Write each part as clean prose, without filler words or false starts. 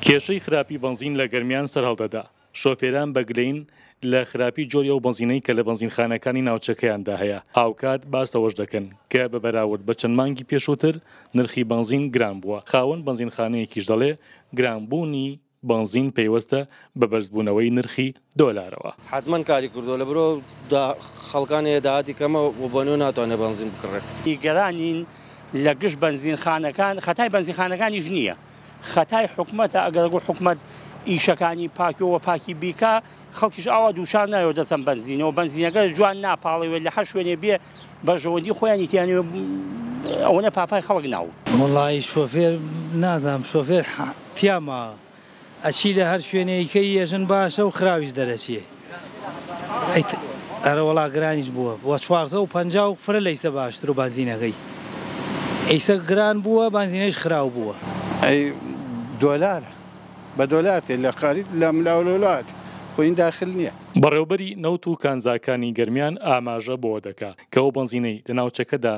کێشەی خراپی بەنزین لە گەرمیان سەرهەڵدەدا، شۆفێران بە گلەیین لە خراپی جۆری ئەو بەنزینەی کە لە بەنزینخانەکانی ناوچەکەیاندا هەیە، هاوکات باس لەوەش دەکەن کە بە بەراورد بە چەند مانگی پێشووتر نرخی بەنزین گران بووە، خاوەن بەنزینخانەیەکیش دەڵێ گرانبوونی بەنزین پەیوەستە بە بەرزبوونەوەی نرخی دۆلارەوە. حەتمەن کاری کردووە لەبەرئەوە خەڵکان هەیە داهاتی کەمە و بۆنیو ناتوانێت بەنزین بکڕێت. نیگەرانین لە گشت بەنزینخانەکان، خەتای بەنزینخانەکانیش نییە، خەتای حکومەتە، ئەگەر حکومەت ئیشەکانی پاکیەوە پاکی بیکا خەڵکیش ئاوا دووچار نایەوە دەسەم بەنزینەوە، بەنزینەکە جوان ناپاڵێوێت لە هەر شوێنێ بێ بەرژەوەندی خۆیانی تیانێ ئەوەنە پاپای خەڵک ناو. وەڵایی شۆفێر نازانم شۆفێر تیا ماوە ئەچی لە هەر شوێنێ ئیکەی یەژن باشە و خراویش دەرەچێ ئەرەوەڵا گرانیش بووە وە 450 و فرە لە ئیسە باشتر و بەنزینەکەی ئیسە گران بووە بەنزینەیش خراو بووە. ئەی دۆلار بە دۆلار تێ لە قاریت لە ملاو لەولات خۆ این داخل نیە. بەڕێوبەری نەوت و کانزاکانی گەرمیان ئاماژە بەوە دەکا کە ئەو بەنزینەی لە ناوچەکەدا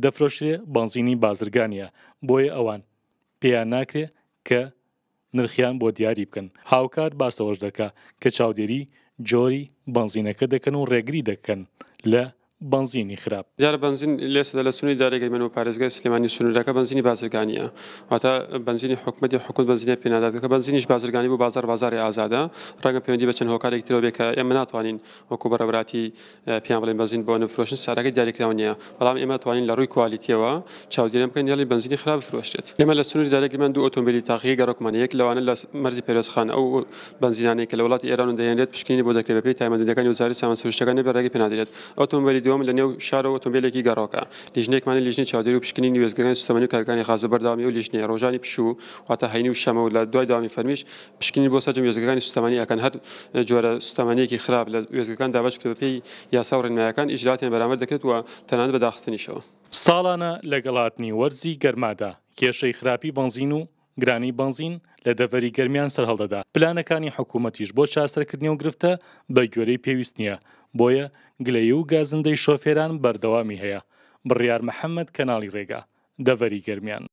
دەفرۆشرێ بەنزینی بازرگانیە بۆیە ئەوان پێیان ناکرێ کە نرخیان بۆ دیاری بکەن، هاوکات باس لەوەش دەکا کە چاودێری جۆری بەنزینەکە دەکەن و ڕێگری دەکەن لە بەنزینی خراپ. دیارە بەنزین لێسەدا لە سنووری دارەی گەرمیان و پارێزگای سلێمانی سنوورەکە بەنزینی بازرگانییە واتە بەنزینی حکومەتی حکومەت بەنزینە پێ نادات کە بەنزینیش بازرگانی بوو بازاڕ بازاڕی ئازادە ڕەنگە پەیوەندی بە چەند هۆکارێکی ترەوە بێت کە ئێمە ناتوانین وەکو بەڕێوەبەراتی پێیان بڵێین بەنزین بۆ نەفرۆشن سعرەکەی دیاریکراو نییە بەڵام ئێمە توانین لە ڕووی کوالیتیەوە چاودێریان بکەین یاڵی بەنزینی خراپ بفرۆشرێت ئێمە لە سنووری دارای گرمان دوو ئۆتۆمبیلی تاقیگەی گەڕەکمان یەک لەوانە لە مەرزی پەروێزخان ئەو بەنزینانەی کە لە وڵاتی ئێران دەهێنرێت پشکنینی بۆ دەکرێت بەپێی تایبەتمەندییەکانی وەزارەتی سامان سروشتیەکان نەبێت ڕێگەی پێنادرێت ئۆتۆمبیلی دووەم لە نێو شارەوە ئۆتۆمبیلێکی گەڕۆکە لیژنەیەکمان هەیە لیژنەی چاودێری و پشکنینی وێستگەکانی سوتەمەنی و کارگەکانی غاز بە بەردەوامی ئەو لیژنەیە ڕۆژانی پشوو واتە هەینی و شەمە و لە دوای دەوامی فەرمیش پشکنین بۆ سەرجەم وێستگەکانی سوتەمەنی ئەکەن، هەر جۆرە سوتەمەنیەکی خراپ لە وێستگەکان دابەش بکرێت بەپێی یاسا و ڕێنمایەکان ئیجرائاتیان بەرامبەر دەکرێت و تەنانەت بە داخستنیشەوە. ساڵانە لەگەڵ هاتنی وەرزی گەرمادا کێشەی خراپی بەنزین و گرانی بەنزین لە دەڤەری گەرمیان سەرهەڵدەدا، پلانەکانی حکومەتیش بۆ چارەسەرکردنی ئەو گرفتە بەگوێرەی پێویست نییە، بۆیە گلەیی و گازندەی شۆفێران بەردەوامی هەیە. بڕیار محەمەد، کەناڵی رێگا، دەڤەری گەرمیان.